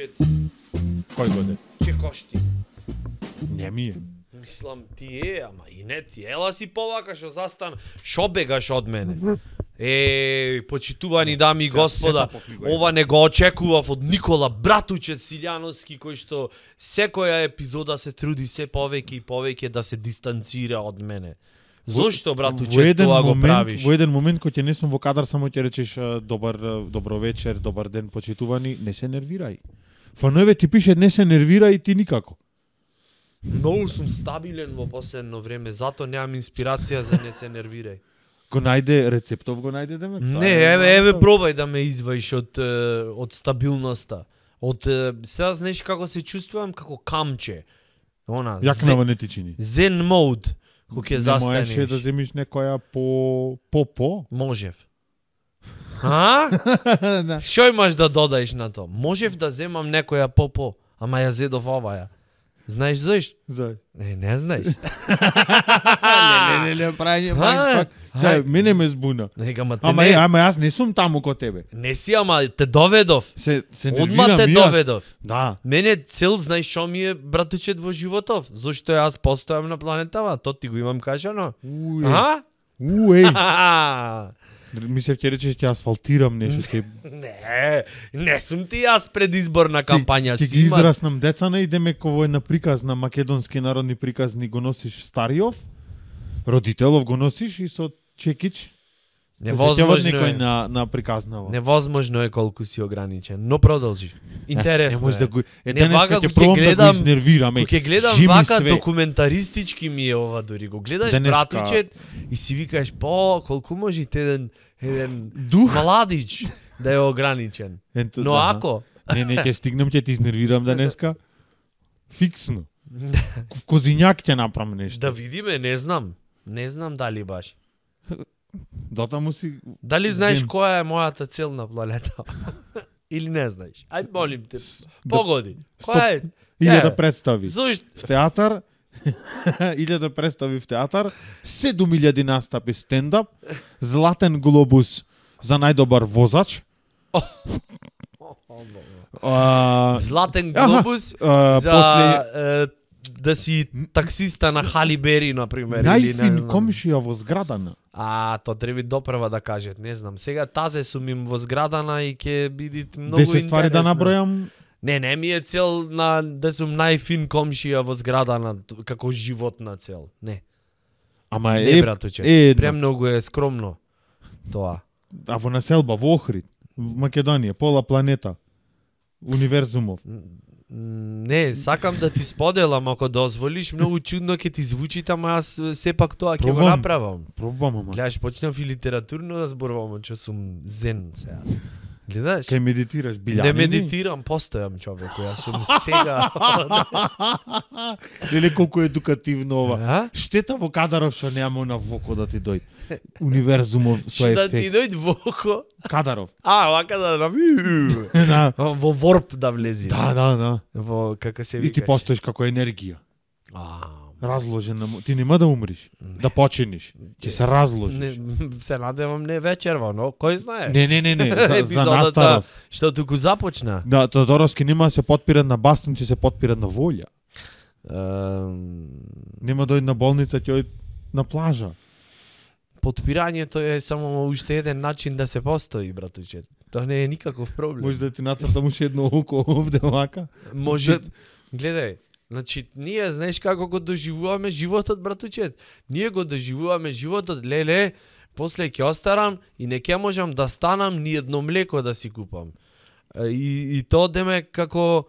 братучет. Кој годен? Чекошти. Не ми е. Мислам ти е, ама и не ти. Ела си повака што застан, шо бегаш од мене? Почитувани дами и господа, ова не го очекував од Никола Братучет Силјановски, кој што секоја епизода се труди се повеќе и повеќе да се дистанцира од мене. Зошто, братуче, тоа го правиш? Во еден момент кој ќе не сум во кадар, само ќе речеш добро вечер, добар ден, почитувани, не се нервирај. Фанове ти пише не се нервирај, ти никако. Многу сум стабилен во последно време, затоа немам инспирација за не се нервирај. Го најде рецептов, го најде демек? Не, еве пробај да ме изваиш од стабилноста. Сега знаеш како се чувствувам, како камче. Она, Јакнава не ти чини. Зен мод. Кога ќе застанеш. Не можеш да земиш некоја по? Можев. А? Да. Што имаш да додаеш на тоа? Можев да земам некоја по, ама ја зедов оваја. Знаеш зашто? Зај. Не знаеш. Не, прајање мајнфак. Зај, мене ме збуна. Ама јас не сум таму ко тебе. Не си, ама те доведов. Се Одма те доведов. Да. Мене цел, знаеш шо ми е, братучет, во животов? Зошто јас постојам на планетава? То ти го имам кажано. Мислев ќе речеш ќе асфалтирам нешто. Не сум ти јас предизборна кампања. Ќе ги израснам деца на идеме кој на приказ на македонски народни приказни го носиш стариов, родителов го носиш и со чекич. Невозможно некој на приказнава. Невозможно е колку си ограничен, но продолжи. Интересно. Не може да го денеска ќе пробам да го изнервирам. Кога ќе гледам вака документаристички ми е ова дури. Го гледаш братучет и си викаш колку може еден младич да е ограничен. Но ако не ќе стигнам, ќе ти изнервирам денеска. Фиксно. Козињак ќе направам нешто. Да видиме, не знам. Не знам дали баш. Дотаму си. Дали знаеш која е мојата цел на планета? Или не знаеш? Ајде молим те. Погоди. Која е? 1000 представи. Зошто? В театар. 1000 представи в театар. 7000 настапи стендап. Златен глобус за најдобар возач. Златен глобус за да си таксиста на Хали Бери, например. Најфин комшија во зградана. То треба допрва да кажат, не знам. Сега тазе сум им во зградана и ќе биде многу интересно. 10 ствари да набројам. Не ми е цел да сум најфин комшија во зградана како животна цел. Не. Ама не, братуче. Премногу е скромно тоа. А во населба во Охрид, во Македонија, пола планета, универзумов. Не, сакам да ти споделам, ако дозволиш, многу чудно ќе ти звучи, ама јас сепак тоа ќе го направам. Пробам, ама. Гледаш, почнав и литературно да зборувам, че сум зен сега. Гледаш? Кај медитираш билјанини? Не медитирам, постојам човеку, јас сум сега. Леле колку едукативно ова. Штета во Кадаров што нема на Воко да ти дојде. Универзумов со ефект. Да ти дојде Воко? Кадаров. Вака да во ворп да влези. Да. Во како се викаш. И ти постоиш како енергија. Разложена, ти нема да умриш, да починиш, ќе се разложиш. Се надевам не вечерва, но кој знае. Не, за настарост. Што туку започна. Да, Тодоровски нема да се потпират на бастун, ќе се потпират на волја. Нема дојде на болница, ќе на плажа. Подпирањето е само уште еден начин да се постои, братуче. Тоа не е никаков проблем. Може да ти нацртам уште едно око овде вака? Може. Гледај. Значи, ние знаеш како го доживуваме животот, братучет. Ние го доживуваме животот, леле, после ќе остарам и не ќе можам да станам ни едно млеко да си купам. И то деме како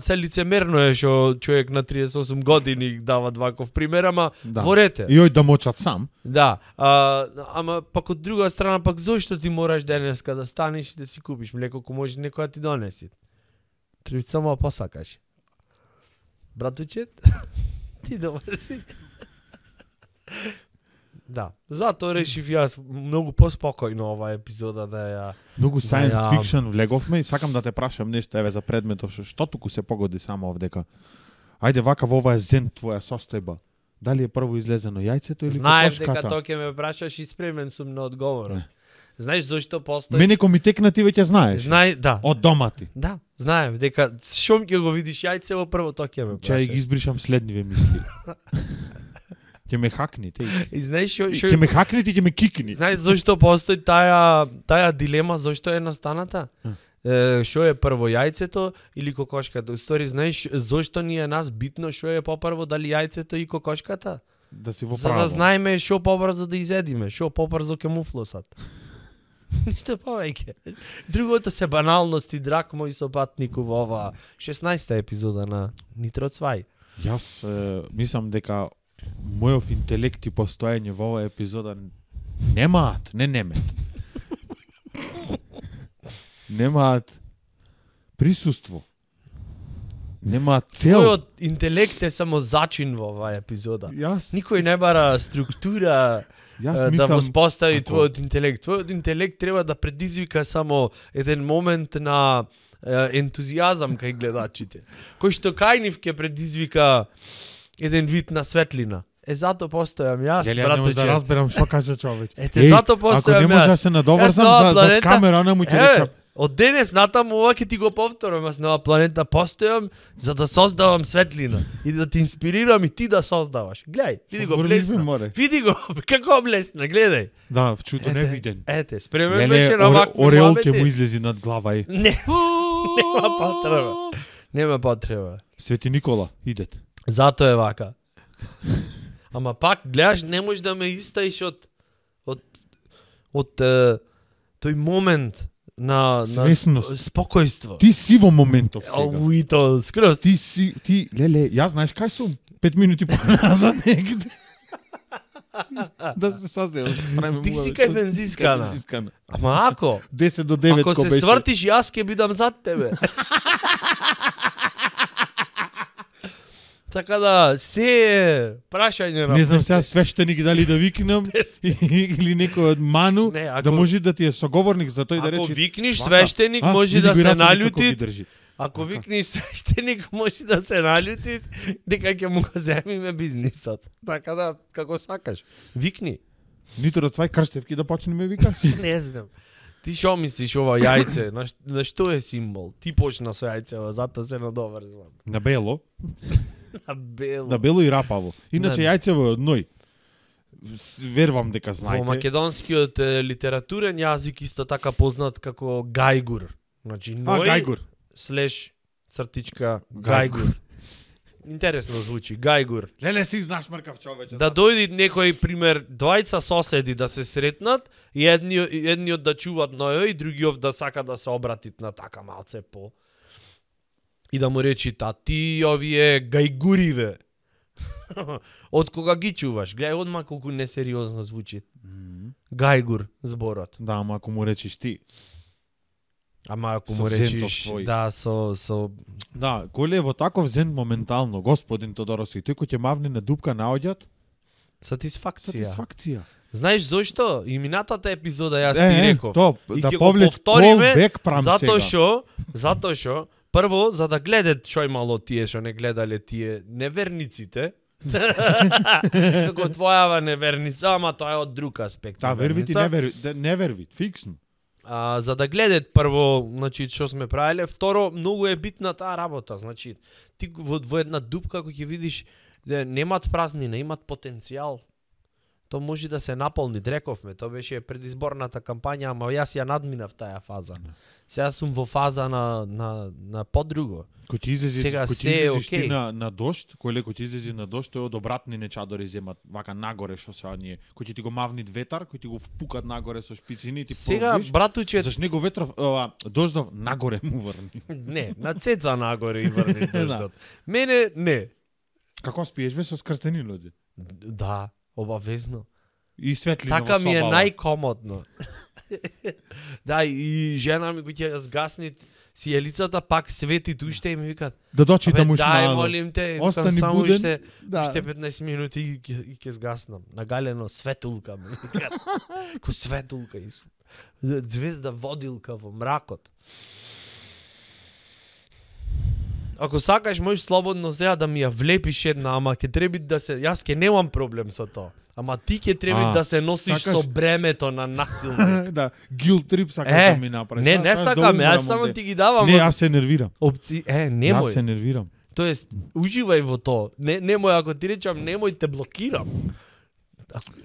се лицемерно е што човек на 38 години дава ваков пример, ама ворете. И да мочат сам. Да, ама пак од друга страна, пак зошто ти мораш денеска да станеш и да си купиш млеко, ако може некоја ти донеси? Треба само посакаш. Братучет, ти добар си. Да, затоа решив јас многу поспокојно ова епизода да ја... Многу science fiction влеговме и сакам да те прашам нешто еве за предметов што туку се погоди само овдека. Ајде вака во оваа зен твоја состојба. Дали е прво излезено јајцето или кокошката? Знаев дека тоа ќе ме прашаш и спремен сум на одговорот. Знаеш зошто постои? Мене кој ми текна ти веќе знаеш. Да. Од дома ти. Да, знаем дека шом ќе го видиш јајцево прво тоа ќе ме Чај ги праша. избришам следниве мисли. Ќе ме хакни, теј. И знаеш Ќе ме хакни, ти ќе ме кикни. Знаеш зошто постои таа дилема, зошто е настаната? Што е прво јајцето или кокошката? Устори знаеш зошто ни е нас битно што е попрво, дали јајцето и кокошката? Да си во За право. да знаеме што побрзо да изедиме, што побрзо ќе муфлосат. Ништо повеќе. Другото се баналности, драг мој сопатник во ова 16-та епизода на Нитро Цвај. Јас мислам дека мојов интелект и постоење во оваа епизода немаат присуство. Немаат цел. Твојот интелект е само зачин во оваа епизода. Јас Никој не бара структура да мислам воспостави ако- твојот интелект. Твојот интелект треба да предизвика само еден момент на ентузијазам кај гледачите. Кој што кај нив ќе предизвика еден вид на светлина. Затоа постојам јас, Јас не можам да братуче. разберам што кажа човек. Ете, затоа постојам Ако не може јас. да се надоврзам Јас на оваа за планета- камера, она му ќе речам. Од денес натаму ова ќе ти го повторам, јас на оваа планета постојам за да создавам светлина и да те инспирирам и ти да создаваш. Гледај, види го блесна. Види го, како блесна, гледај. Да, чудо не виден. Ете, спремен Леле, беше на вакви ореол ќе муабети. му излези над глава и. Не, нема потреба. Нема потреба. Свети Никола, идете. Затоа е вака. Ама пак, гледаш, не можеш да ме истаиш од тој момент на Свесност. спокојство. Ти си во моментов сега. Ау, и то скроз. Ти, леле, јас знаеш кај сум? 5 минути поназад негде. Да се создаде. Ти си кај бензинскана. Ама ако 10 до 9 ако ко се беше. свртиш, јас ќе бидам зад тебе. Така да, се е прашање на... Не знам сега свештеник дали да викнам или некој од Ману Не, ако- да може да ти е соговорник за тој да Ако рече. викниш вака, свештеник, може види да го се рацете како налјути. ги држи. Ако викнеш свештеник, може да се налјути дека ќе му го земиме бизнисот. Така да, како сакаш. Викни. Нитро Цвај крштевки да почнеме викаш. Не знам. Ти шо мислиш ова јајце? На што е символ? Ти почна со јајцево, затоа се надоврзвам. На бело, На бело. на бело и рапаво. Иначе На- јајцево е од ној. Верувам дека Во знаете. македонскиот литературен јазик исто така познат како гајгур. Значи ној гајгур. слеш цртичка гајгур. Интересно звучи, гајгур. Леле си знаеш мркав човече. Да дојди некој пример двајца соседи да се сретнат и едниот да чуваат ној и другиот да сака да се обратит на така малце по и да му речи ти овие гајгуриве. Од кога ги чуваш? Гледај одма колку несериозно звучи. Гајгур зборот. Да, ама ако му речиш ти. Ама ако Со му взентов речиш твој. да со Да, коле е во таков зент моментално, господин Тодороски, тој кој ќе мавне на дупка наоѓат, сатисфакција. сатисфакција. Знаеш зошто? И минатата епизода јас ти реков. то, И да ќе го повлек повториме, callback прам Затоа сега. што прво за да гледат што имало тие што не гледале тие неверниците. Го твојава неверница, ама тоа е од друг аспект. Да, вервити, неверница. не вервит, фиксно. За да гледат прво, значи што сме правеле, второ многу е битна таа работа, значи ти во една дупка кој ќе видиш немат празнина, имат потенцијал. То може да се наполни, рековме, тоа беше предизборната кампања, ама јас ја надминав таа фаза. Сега сум во фаза на подруго. Кој ти излези, Сега кој ти се е излезеш ти окей. на дошт, кој леко ти излези на дошт, тој од обратни чадори земат вака нагоре што се оние, кој ќе ти го мавнит ветар, кој ти го впукат нагоре со шпицини и ти Сега, пробиш. братуче, Заш него ветров, дождов нагоре му врни. не, на цеца нагоре и врни дождот. Мене, не. Како спиеш бе со скрстени нозе? Да, обавезно. И светлина Така во ми е собава. најкомодно. Да, и жена ми кој ќе ја згасни сијелицата, пак свети уште и ми викат, Да дочита абе, му дај, шмало. молим те, викам, Остани само буден. уште, Да. уште 15 минути и ќе згаснам. Нагалено светулка ми викат. Ко светулка и звезда водилка во мракот. Ако сакаш, можеш слободно сега да ми ја влепиш една, ама ќе треба да се... Јас ќе немам проблем со тоа. Ама ти ќе треба да се носиш сакаш- со бремето на насилник. Да, guilt trip сакаш да ми направиш. Не, Знаеш, не да сакам, умрам јас само онде. ти ги давам Не, јас се нервирам. опции. Јас Немој. се нервирам. Тоест, уживај во тоа. Немој, ако ти речам немој, те блокирам.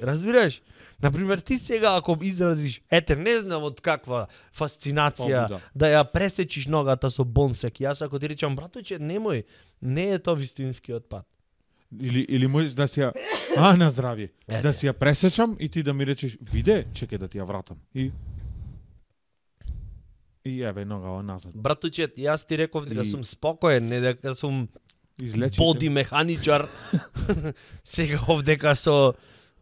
Разбираш? Например, ти сега ако изразиш, не знам од каква фасцинација Побуда. да ја пресечиш ногата со бонсек. Јас ако ти речам, браточе, немој, не е тоа вистинскиот пат. Или можеш да си ја на здравје. Да си ја пресечам и ти да ми речеш, виде, чекај да ти ја вратам. И еве нога назад. Браточе, јас ти реков дека И- сум спокоен, не дека сум Излечи боди механичар. Сега овдека со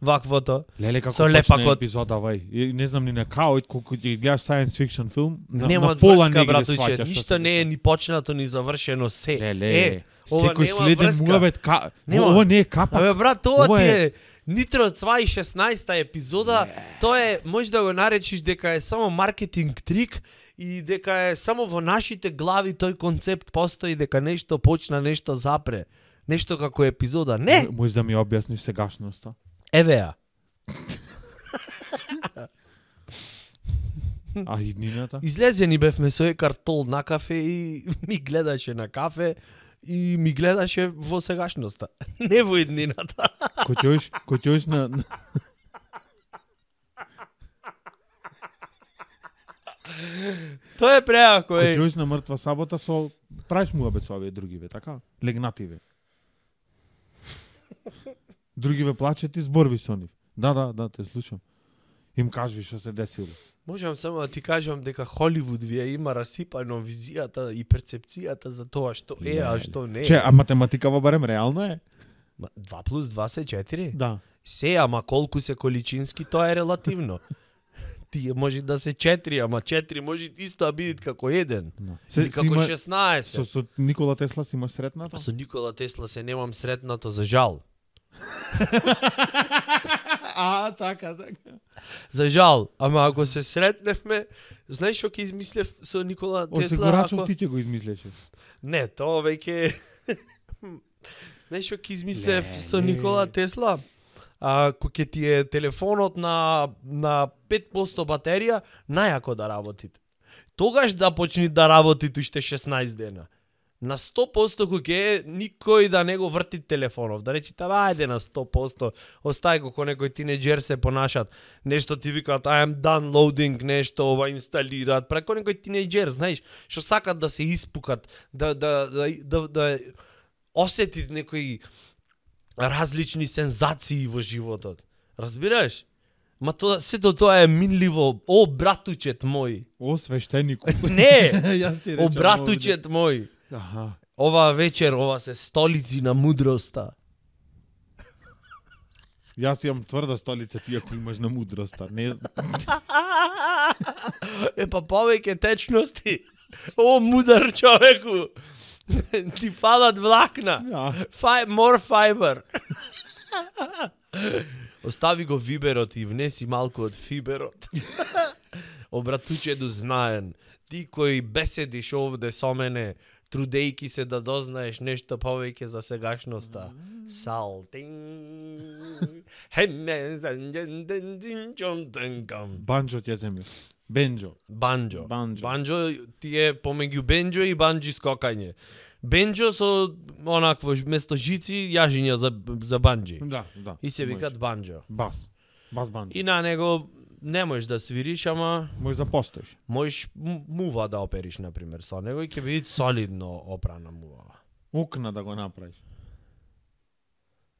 ваквото. Леле како со почна лепакот. епизода вај. И не знам ни на као, колку ќе гледаш science fiction филм, Нема на пола врска, не ги братуче. сваќаш. што Ништо се не е дешава. ни почнато ни завршено се. Леле, ова секој нема следен врска. муавет Нема. ова не е капак. Абе брат, ова Ова ти е- е Нитро 2016 епизода, тоа е, можеш да го наречиш дека е само маркетинг трик и дека е само во нашите глави тој концепт постои дека нешто почна, нешто запре. Нешто како епизода. Не! Можеш да ми објасниш сегашноста? Еве ја. А иднината? Излезени бевме со Екартол на кафе и ми гледаше на кафе и ми гледаше во сегашноста. Не во иднината. Кој ќоиш на Тоа е преако, кој е. ќоиш на мртва сабота со правиш муабет со овие другиве, така? Легнативе. Другиве плачат и зборви со нив. Да, те слушам. Им кажи што се десило. Можам само да ти кажам дека Холивуд вие има расипано визијата и перцепцијата за тоа што е, а што не е. Че, а математикава барем реално е? 2 плюс 2 се 4? Да. Се, ама колку се количински, тоа е релативно. Тие може да се 4, ама 4 може исто да бидат како 1. Или како 16. Со Никола Тесла си имаш сретнато? Со Никола Тесла се немам сретнато за жал. Така. За жал, ама ако се сретневме, знаеш што ќе измислев со Никола Тесла? Осигурачов ти ќе го измислеше. Не, тоа веќе знаеш што ќе измислев со Леле. Никола Тесла? Ако ќе ти е телефонот на 5% батерија, најако да работите. Тогаш да почни да работи уште 16 дена. На 100% кога е, никој да не го врти телефонов. Да речите, ајде на 100%, остај го ко некој тинеџер се понашат. Нешто ти викаат, I am downloading, нешто ова инсталираат. Преко некој тинеџер, знаеш, што сакат да се испукат, да осетит некои различни сензации во животот. Разбираш? Ма тоа, сето тоа е минливо. О, братучет мој. О, свештенику. Не! Јас ти О, речам братучет мој. овде. Аха. Ова вечер, ова се столици на мудроста. Јас имам тврда столица, ти ако имаш на мудроста. Не Па повеќе течности. О, мудар човеку. Ти фалат влакна. More fiber. Остави го виберот и внеси малку од фиберот. Обратучеду знаен. Ти кој беседиш овде со мене, трудејки се да дознаеш нешто повеќе за сегашноста. Салтин. Банджо ти ја земја. Бенджо. Банджо. Банджо. Банджо ти е помеѓу бенджо и банджи скокање. Бенджо со онакво место жици јажиња за банджи. Да. И се викат банджо. Бас банджо. И на него не можеш да свириш, ама Можеш да постоиш. можеш мува да опериш, например, со него и ќе биде солидно опрана мува. Окна да го направиш.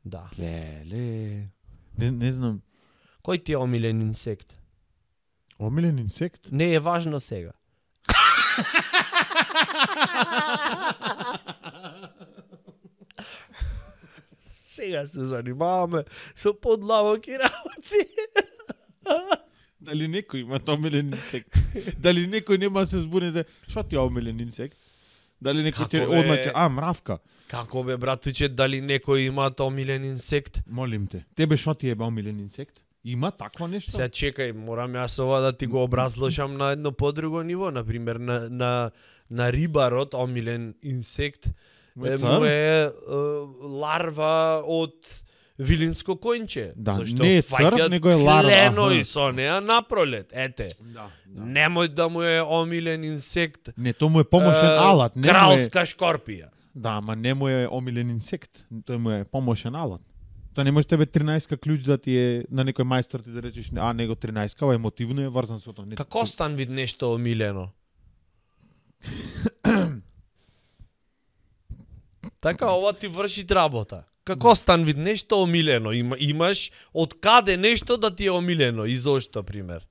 Да. Леле. Не знам. Кој ти е омилен инсект? Омилен инсект? Не е важно сега. Сега се занимаваме со подлабоки работи. Дали некој има омилен инсект? Дали некој нема да се збуне што ти е омилен инсект? Дали некој ти Како бе? одма ќе мравка? Како бе, братуче, дали некој има омилен инсект? Молим те. Тебе што ти е омилен инсект? Има такво нешто? Сега чекај, морам јас ова да ти го образложам на едно подруго ниво, например на рибарот омилен инсект Му е му цар? е ларва од вилинско коњче. Да, зашто не е црв, фаќаат него е ларва, кленои аха. со неа напролет. Ете, Да. немој да му е омилен инсект. Не, тоа му е помошен алат, не му е. Кралска шкорпија. Да, ама не му е омилен инсект, тој му е помошен алат. Тоа не може тебе 13 клjuč да ти е на некој мајстор ти да речеш, а него 13, ова емотивно е врзан со тоа. Не- Како стан вид нешто омилено? Така, ова ти врши работа. Како стан вид нешто омилено? Имаш од каде нешто да ти е омилено и зошто, пример?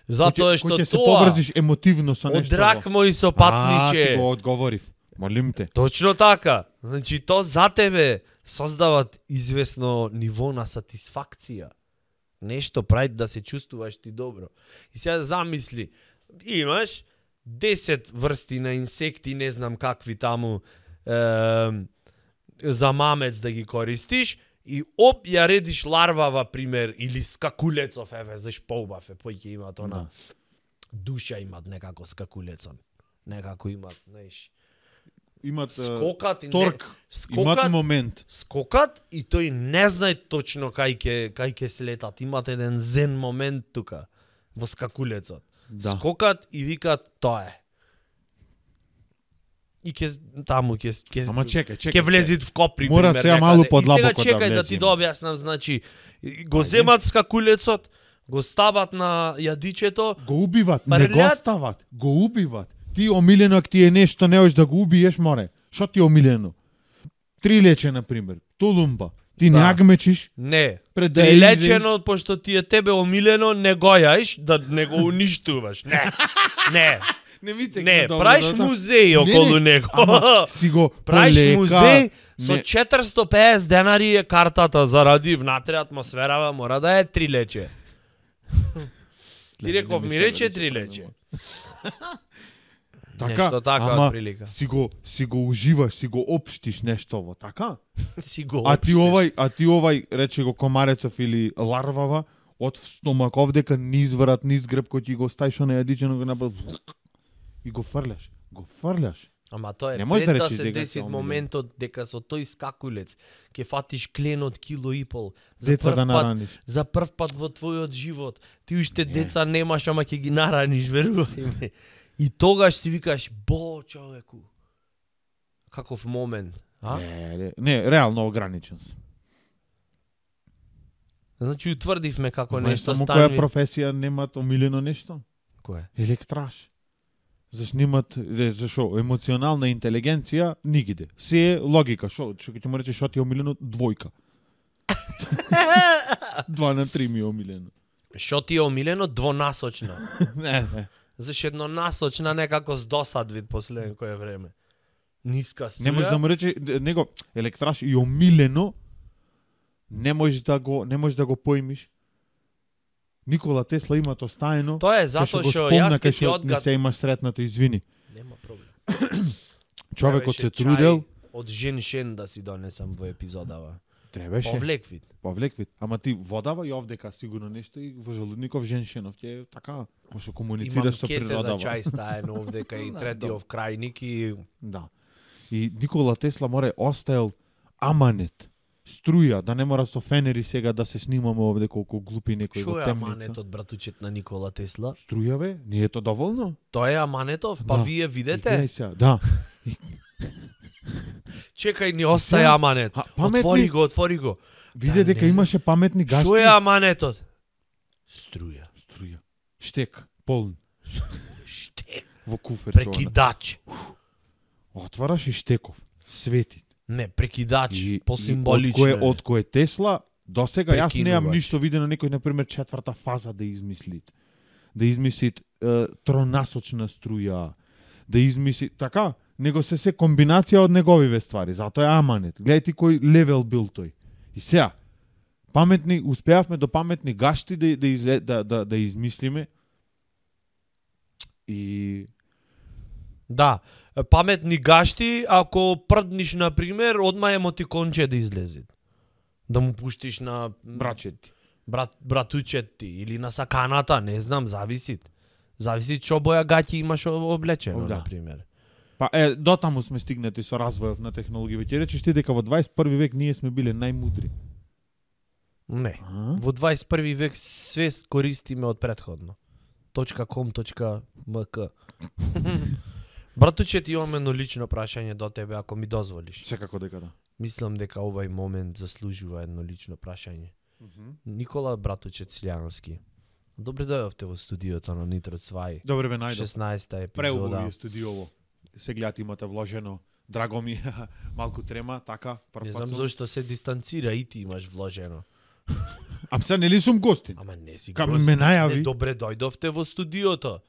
Затоа што Кој ќе се тоа поврзиш емотивно со од нешто. рак мој со А, патниче. ти го одговорив. Молим те. Точно така. Значи, то за тебе создават известно ниво на сатисфакција. Нешто прави да се чувствуваш ти добро. И сега замисли, имаш 10 врсти на инсекти, не знам какви таму, за мамец да ги користиш, и ја редиш ларвава, пример, или скакулецов, еве, заш поубав е, пој ќе имат она, душа имат некако скакулецон. Некако имат, знаеш, Имат скокат и торк, имат момент. скокат и тој не знае точно кај ќе слетат. Имат еден зен момент тука во скакулецот. Да. Скокат и викат тоа е. И ќе Ама чекај. ќе влезит в Копри, Мора пример, сега некаде. малку подлабоко И сега чекај да да ти влеземе. дообјаснам, значи го земат скакулецот, го стават на јадичето, Го убиват, не Фрлят. го стават, го убиват. Ти омилено ако ти е нешто, не можеш да го убиеш, море. Што ти е омилено? Трилече, на пример, тулумба. Ти не Да. агмечиш, не. пред да Прилечено, пошто ти е тебе омилено, не го јаиш, да не го уништуваш. Не. Не. Не ми Не, правиш музеј околу него. Ама си го Правиш полека, музеј со не- 450 денари е картата заради внатре атмосферава мора да е 3 лече. Ти реков ми рече 3 лече. Така, Нешто така ама отприлика. си го уживаш, си го општиш нештово, така? Си го А ти општиш. овај, рече го комарецов или ларвава, од стомак овдека низ врат, низ грб кој ти го ставиш на јадичено го направи и го фрляш. Го фрляш. Ама тоа е Не можеш пред да да речеш се дека деси се омилен. моментот дека со тој скакулец ќе фатиш клен од кило и пол. Деца да прв пат- нараниш. За прв пат во твојот живот. Ти уште деца немаш, ама ќе ги нараниш, верувај ме. И тогаш си викаш, бо, човеку. Каков момент, а? Не, реално ограничен сум. Значи утврдивме како Знаеш нешто само станви. која професија немат омилено нешто? Кој? Електраш. Зашто немат, зашо, емоционална интелигенција нигде. Се е логика, што ќе му речеш што ти е омилено, двојка. 2 на 3 ми е омилено. Што ти е омилено? Двонасочна. Не. Зашто еднонасочна некако здосад вид последно кое време. Ниска струја. Не можеш да му рече него електраш и омилено не можеш да го поимиш. Никола Тесла има тоа стаено. Тоа е затоа што јас ке ти не одгад... се имаш сретнато, извини. Нема проблем. Човекот се Требаше трудел, чај од Женшен да си донесам во епизодава. требаше. Повлек вид. Повлек вид. Ама ти водава и овдека сигурно нешто и во желудников женшенов ќе е така, може Имам комуницираш со кесе за природава. чај стаено овдека и Да, третиов крајник и Да. И Никола Тесла море оставил аманет, струја, да не мора со фенери сега да се снимаме овде колку глупи некои Шо во е темница. аманетот, братучет на Никола Тесла? Струја бе, не е тоа доволно? Тоа е аманетов? Па Да. вие видете? Гледај сега, да. Чекај, ни остаje Сега, аманет. паметни- Отвори го. Виде Да, дека не имаше паметни гашти. Шо е аманетот? Струја. Струја. Штек, полн, Штек. во куфер. Прекидач. Отвараш и штеков. Свети. Не, прекидач. И Посимволично. од кој е Тесла, до сега јас немам Прекинувач. ништо видено некој, например, четврта фаза да измисли. Да измисли тронасочна струја, да измисли, така, него се комбинација од неговиве ствари, затоа е аманет. Гледај ти кој левел бил тој. И сега, паметни, успеавме до паметни гашти да измислиме. И Да, паметни гашти, ако прдниш, например, одма емотиконче да излезе. Да му пуштиш на брачет. братучет ти или на саканата, не знам, зависи. Зависи што боја гаќи имаш облечено, Да. например. Па дотаму сме стигнати со развојот на технологија. Ќе речеш ти дека во 21 век ние сме биле најмудри. Не. А? Во 21 век све користиме од претходно. .com.mk Братуче, ти имаме едно лично прашање до тебе, ако ми дозволиш. Секако дека да. Мислам дека овај момент заслужува едно лично прашање. Никола Братуче Цилјановски. Добре дојдовте во студиото на Нитро Цвај. Добре ве најдов. 16-та епизода. Преубаво е студиово. Се гледате имате вложено. Драго ми, малку трема, така, Не знам зошто се дистанцира и ти имаш вложено. Ам се нели сум гостин? Ама не си Кам гост. ме најави. Не, добре дојдовте во студиото.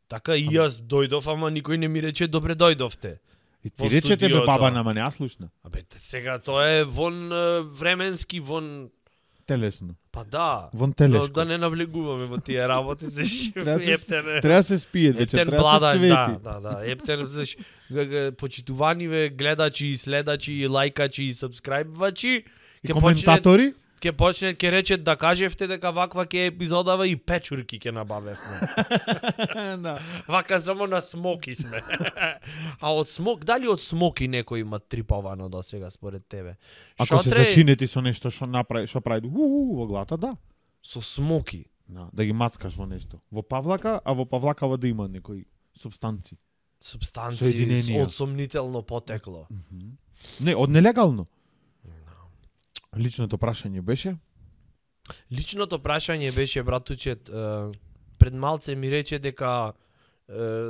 Така и јас дојдов, ама никој не ми рече добре дојдовте. И во ти речете бе студиото. баба, нама не ја слушна. Абе, сега тоа е вон временски, вон... Телесно. Па да. Вон Но телешко. да не навлегуваме во тие работи, се Треба се- ептен. Треба се спие, вече Ептен треба се бладај, свети. да, ептен, почитуваниме гледачи, следачи, лајкачи и сабскрајбвачи. И коментатори? Ќе речет да кажевте дека ваква ќе епизодава и печурки ќе набавевме. Да. Вака само на смоки сме. А од смок, дали од смоки некој има триповано до сега според тебе? Ако се Шотре зачинети со нешто што направи, што прави во глата, да. со смоки. Да ги мацкаш во нешто. Во павлака, а во павлакава да има некои субстанци. Субстанции Соединенија. од сомнително потекло. Не, од нелегално. Личното прашање беше? Личното прашање беше, братуче, пред малце ми рече дека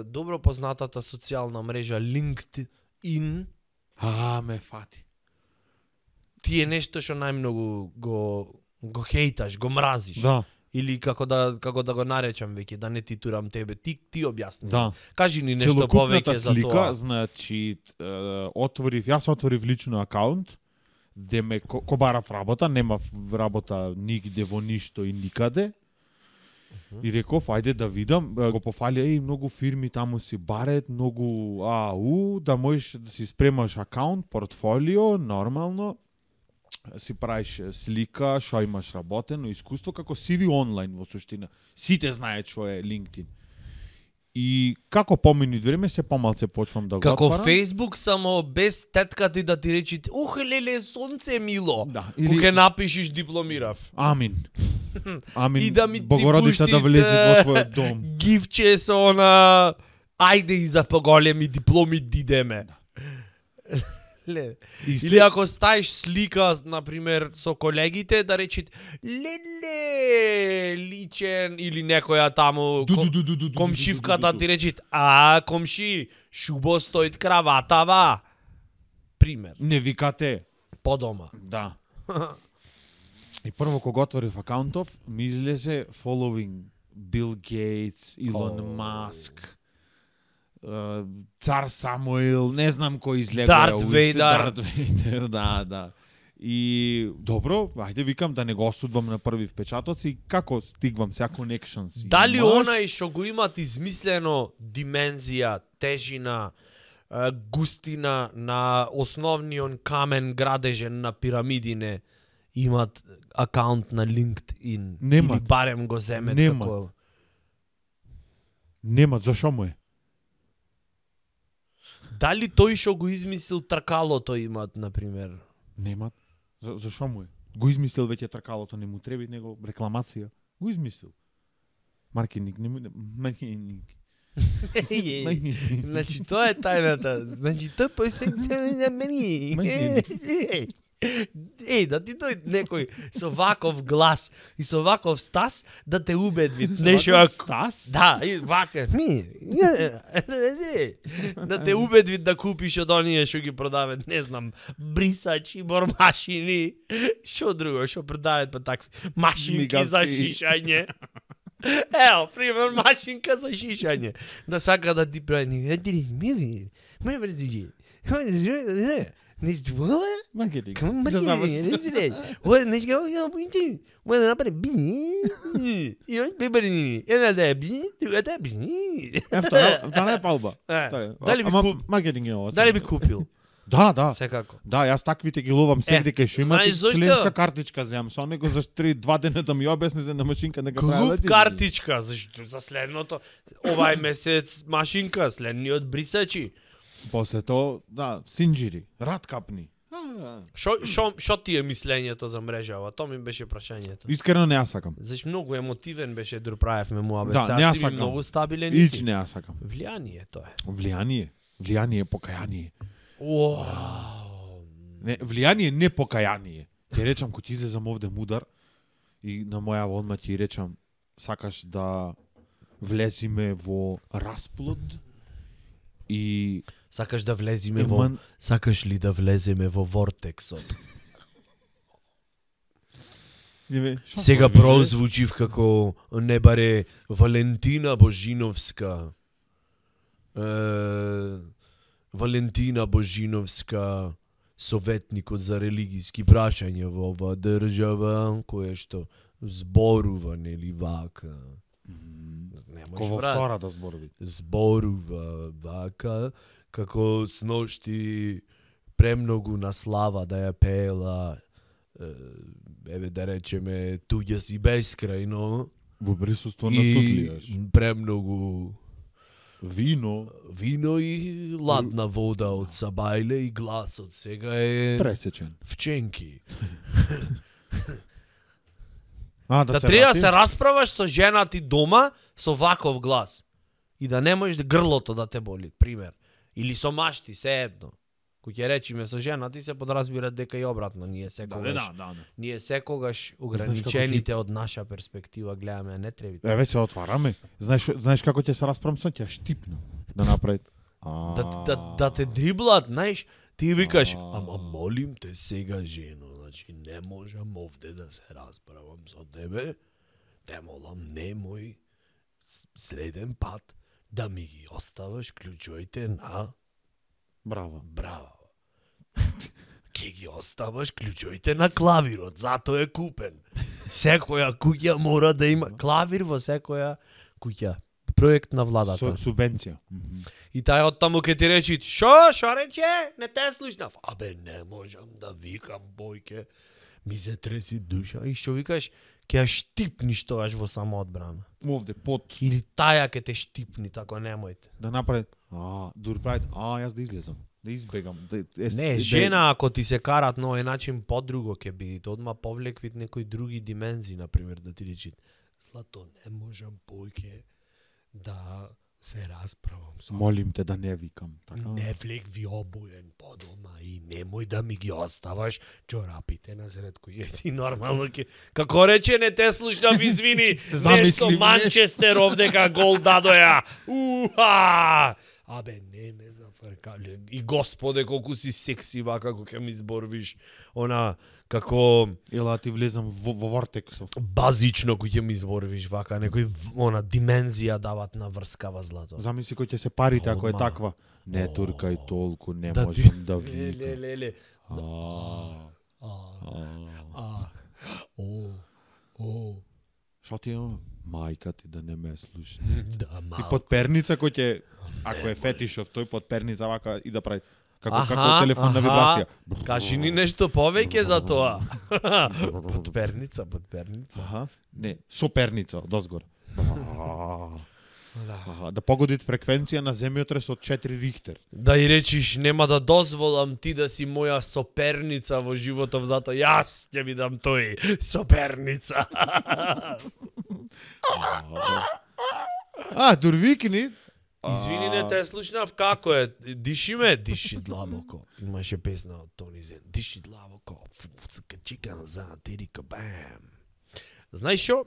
добро познатата социјална мрежа LinkedIn Ме фати. ти е нешто што најмногу го хейташ, го мразиш. Да, Или како да го наречам веќе, да не ти турам тебе. Ти објасни. да. Кажи ни нешто Целокупната повеќе за слика, тоа. значи, јас отворив лично акаунт, де ме кобарав работа, немав работа нигде во ништо и никаде. И реков, ајде да видам, го пофалија и многу фирми таму си барет, многу да можеш да си спремаш акаунт, портфолио, нормално, си правиш слика, што имаш работено, искуство, како CV онлайн во суштина. Сите знаат што е LinkedIn. И како поминут време, се помалце почвам да го Како отварам. Facebook, само без тетка ти да ти речи леле, сонце мило. Да, Или ке напишеш дипломирав. Амин. Амин. И да ми ти Богородица да пушти влезе во твојот дом. Гифче со она ајде и за поголеми дипломи дидеме. Ле. И се- Или ако ставиш слика, например, со колегите, да речит леле, личен, или некоја таму комшивката ти речит, комши, шубо стоит краватава. Пример, Не викате. по дома. Да. И прво кога отворив акаунтов, ми излезе following Bill Gates, Elon Musk, Цар Самуил, не знам кој излега. Дарт Вейдер. Дарт Вейдер, да. И добро, ајде викам да не го осудвам на први впечатоци и како стигвам сега connections. Дали имаш? онај што го имат измислено димензија, тежина, густина на основниот камен градежен на пирамидине имат акаунт на LinkedIn? Немат. Или барем го земет Немат. како... Нема, зашо му е? Дали тој што го измислил тркалото имат, например? Немат. Зашо му е? Го измислил веќе тркалото, не му треби него рекламација. Го измислил. Маркетинг, не му... Маркетинг. Значи, тоа е тајната. Значи, тој посеќа за мене. Да ти дојде некој со ваков глас и со ваков стас да те убедви. Нешто ако... Стас? Да, и вака. Да те убедви да купиш од оние што ги продават, не знам, брисачи, бормашини, што друго, што продават па такви машинки за Мигавци. шишање. Ево, пример, машинка за шишање. Да сака да ти прави. Мој братуџи. Маркетинг. Come Да заврши. What? Let's go. Yo, pretty. Well, I'm gonna be. You know, baby. And that be. That be. Втора е палба. Дали би Ама куп... маркетинг е ова. Дали би купил? Да. Секако. Да, јас таквите ги ловам сегде кај што имате знаеш зошто? членска картичка земам. Со него за 2 дена да ми објасни за на машинка дека прави. Клуб картичка за следното. Овај месец машинка, следниот брисачи. После тоа, да, синџири, рад капни. Шо ти е мислењето за мрежава? Тоа ми беше прашањето. Искрено не ја сакам. Зашто многу емотивен беше Друправевме му, Да, не ја си сакам. многу стабилен. Ич не ја сакам. Влијание тоа е. Влијание, покаяние. Уау. Не, влијание, не покаяние. Ќе речам, кој ти излезам овде мудар и на моја одма ти речам, сакаш да влезиме во расплод и Сакаш да влеземе во Сакаш ли да влеземе во вортексот? Сега прозвучив како не баре Валентина Божиновска. Валентина Божиновска, советникот за религиски прашања во оваа држава, која што зборува, нели вака. Ко во втора да зборови. Зборува вака, како сношти премногу на слава да ја пеела, еве да речеме, туѓа си бескрајно. Во присуство на судлијаш. И премногу вино и ладна вода од Сабајле и гласот сега е пресечен. вченки. Да треба да се расправаш со жена ти дома со ваков глас. И да не можеш грлото да те боли, пример. Или со машти, се едно. Кој ќе речеме со жена ти се подразбира дека и обратно, ние секогаш ограничените од наша перспектива гледаме, а не треба. Еве се отвараме. Знаеш како ќе се расправам со ќе штипна да направи. Да те дриблат, знаеш, ти викаш, ама молим те сега жено, значи не можам овде да се расправам со тебе. Те молам немој среден пат да ми ги оставаш клучоите на Браво. Ке ги оставаш клучоите на клавирот, затоа е купен. Секоја куќа мора да има клавир во секоја куќа. Проект на владата. Субвенција. И тај оттаму ке ти речи, шо рече? Не те слушнав. Абе, не можам да викам, бојке. Ми се треси душа. И шо викаш? Ке ја штипниш тоаш во самоодбрана. Овде, под. Или таја ке те штипни, тако немојте. Да направи, дурправи, јас да излезам. Да избегам. Не, жена, ако ти се карат на овој начин, подруго ке бидите. Одма повлеквит некои други димензии, например, да ти речит. Злато, не можам, бојке, да се расправам со... Молим те да не викам. Така? Не влекви обоен по дома и немој да ми ги оставаш чорапите насред кој ти нормално ке... Како рече, не те слушнав, извини, нешто Манчестер овдека гол дадоја. Уха! Абе, не ме зафркале. И господе, колку си секси вака, како ќе ми зборвиш, она, како... Ела ти влезам во вортексов. Базично кој ќе ми зборвиш вака, некој, она, димензија дават на врскава злато. Замисли кој ќе се парите, ако е таква. Не туркај толку, не можам да викам. Леле. Шо ти е? Мајка ти да не ме слуша. Да, И подперница кој ќе, ако е фетишов, тој подперница вака и да прави како телефонна вибрација. Кажи ни нешто повеќе за тоа. Подперница. Не, соперница одозгор. Да погоди фреквенција на земјотрес од 4 Рихтер. Да и речиш, нема да дозволам ти да си моја соперница во животов, затоа јас ќе ви дам тој соперница. Дурвикни. Извини, не те слушнав, како е? Диши длабоко. Имаше песна од Тони Зен. Диши длабоко. Фуцка чикан за тирика бам. Знаеш шо?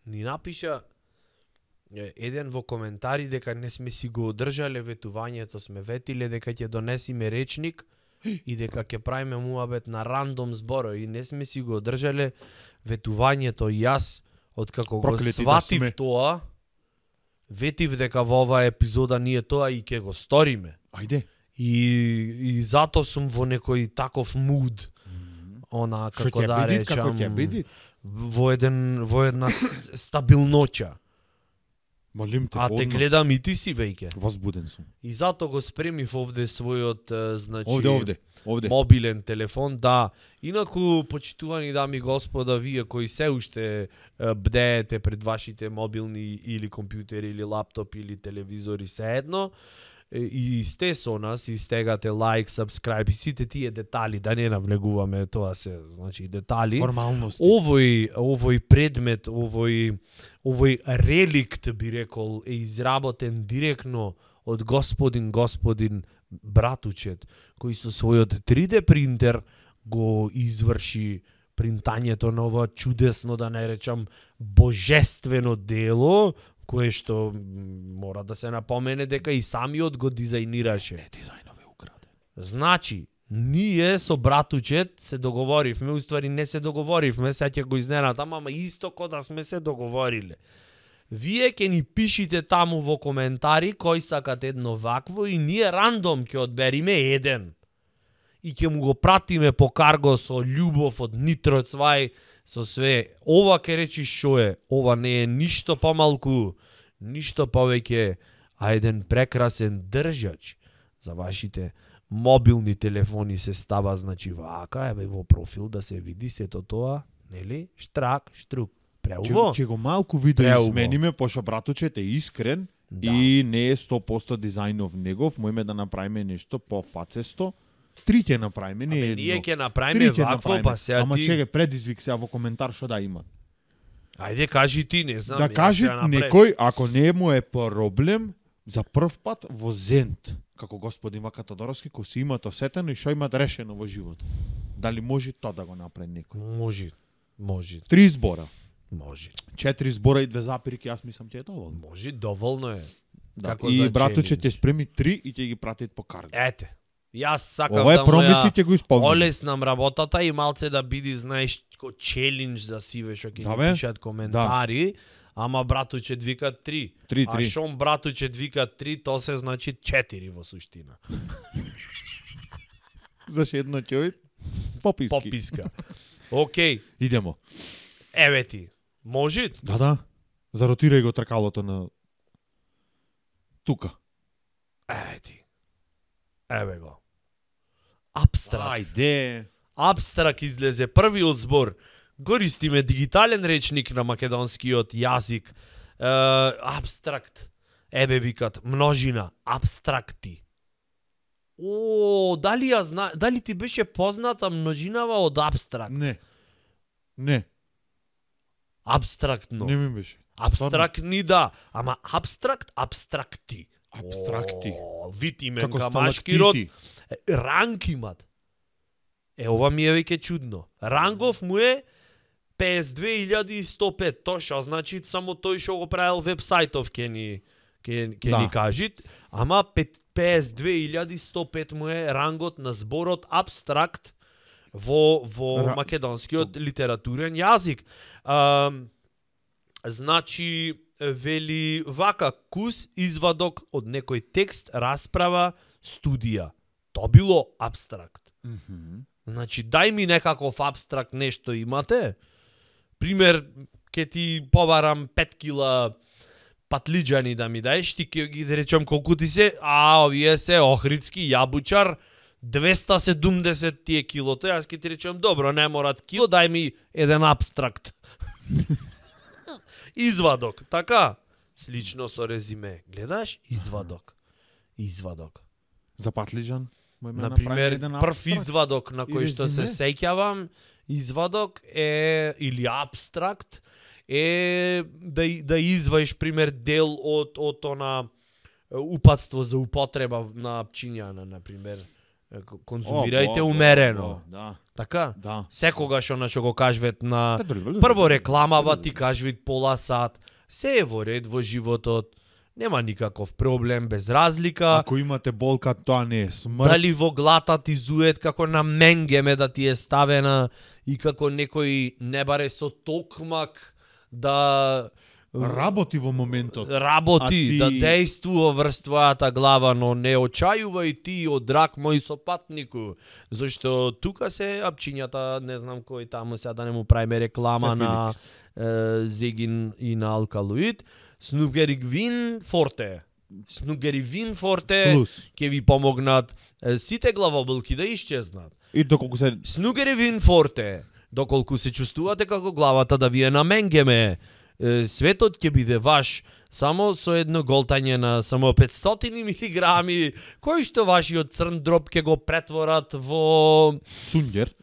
Ни напиша еден во коментари дека не сме си го одржале ветувањето, сме ветиле дека ќе донесиме речник и дека ќе правиме муабет на рандом зборови и не сме си го одржале ветувањето. И јас, откако го сватив тоа, ветив дека во оваа епизода ние тоа и ќе го сториме. Ајде. И затоа сум во некој таков муд. Она, како да речам... Како ќе биди? Во една стабилноќа. Молим те, те гледам и ти си веќе. Возбуден сум. И затоа го спремив овде својот, значи... Овде. Мобилен телефон, да. Инаку, почитувани дами и господа, вие кои се уште бдеете пред вашите мобилни или компјутери, или лаптоп, или телевизори, се едно, и сте со нас, и стегате лайк, subscribe, и сите тие детали, да не навлегуваме, тоа се, значи, детали. Формалности. Овој предмет, овој реликт, би рекол, е изработен директно од господин братучет, кој со својот 3D принтер го изврши принтањето на ова чудесно, да не речам, божествено дело, кое што мора да се напомене дека и самиот го дизајнираше. Дизајнов е украден. Значи, ние со братучет се договоривме, уствари не се договоривме, сега ќе го изненадам, ама исто ко да сме се договориле. Вие ќе ни пишите таму во коментари кој сакат едно вакво и ние рандом ќе одбериме еден. И ќе му го пратиме по карго со љубов од Нитро Цвај, со све. Ова ке речи шо е, ова не е ништо помалку, ништо повеќе, а еден прекрасен држач за вашите мобилни телефони се става, значи вака, еве во профил да се види сето тоа, нели? Штрак, штрук. Преубо. Ќе го малку видео Преубо. измениме, пошто братучет е искрен Да. и не е 100% дизајнов негов, моиме да направиме нешто по-фацесто. 3 ќе направиме, не едно. Ние ќе 3 направиме ќе вакво, направиме. па сега Ама ти... чеке, предизвик сега во коментар што да има. Ајде, кажи ти, не знам. Да јас каже ќе направам. некој, ако не му е проблем, за прв пат во Зент, како господин Вака Тодоровски, кој си имат осетено и што имат решено во животот. Дали може тоа да го направи некој? Може. 3 збора. Може. 4 збора и 2 запирки, јас мислам ќе е доволно. Може, доволно е. Да. Како И за братуче челендж. ќе спреми 3 и ќе ги пратит по карго. Ете. Јас сакам Ова е да промиси, ќе го исполним. олеснам работата и малце да биде, знаеш, ко челендж за сиве што ќе Да, ни бе. пишат коментари, ама братуче вика 3. 3. А шом братуче вика 3, то се значи 4 во суштина. Заш едно ќе пописки. Пописка. Океј, Идемо. еве ти. Може? Да. Заротирај го тркалото на тука. Еве ти. Еве го. Абстракт. Ајде. Абстракт излезе првиот збор. Користиме дигитален речник на македонскиот јазик. Абстракт. Еве викат множина, абстракти. Дали ти беше позната множинава од абстракт? Не. Абстрактно. Не ми беше. Абстрактни да, ама абстракти. Абстракти. Вид имен Како камашки род. сталактити. Ранг имат. Ова ми е веќе чудно. Рангов му е 52.105. Тоа што значи само тој што го правил вебсајтов ќе ни кажи, ама 52.105 му е рангот на зборот абстракт во македонскиот литературен јазик. Значи вели вака кус извадок од некој текст, расправа, студија. Тоа било абстракт. Значи, дај ми некаков абстракт нешто имате. Пример, ке ти побарам 5 кила патлиџани да ми даеш, ти ке ги да речам колку ти се, овие се охридски јабучар, 270 тие килото, јас ке ти речам, добро, не морат кило, дај ми еден абстракт. Извадок, така? Слично со резиме. Гледаш? Извадок. За патлиџан? Например, прв извадок на кој што се сеќавам, извадок е, или абстракт, е да изваиш, пример, дел од она упатство за употреба на пчињана, например. Конзумирајте умерено. Да. Така? Да. Секогаш она што го кажвет на прво рекламава ти кажвит пола сат, се е во ред во животот. Нема никаков проблем, без разлика. Ако имате болка, тоа не е смрт. Дали во глата ти зует како на менгеме да ти е ставена и како некој не баре со токмак да работи во моментот. Работи, да дејствува врз твојата глава, но не очајувај ти од драг мој сопатнику, зашто тука се апчињата, не знам кој таму сега да не му правиме реклама на Зегин и на Алкалоид. Снугервин Форте ќе ви помогнат сите главоболки да исчезнат. И доколку се Снугервин Форте, доколку се чувствувате како главата да ви е на менгеме, светот ќе биде ваш Само со едно голтање на само 500 милиграми, кој што вашиот црн дроб ќе го претворат во Сунгер.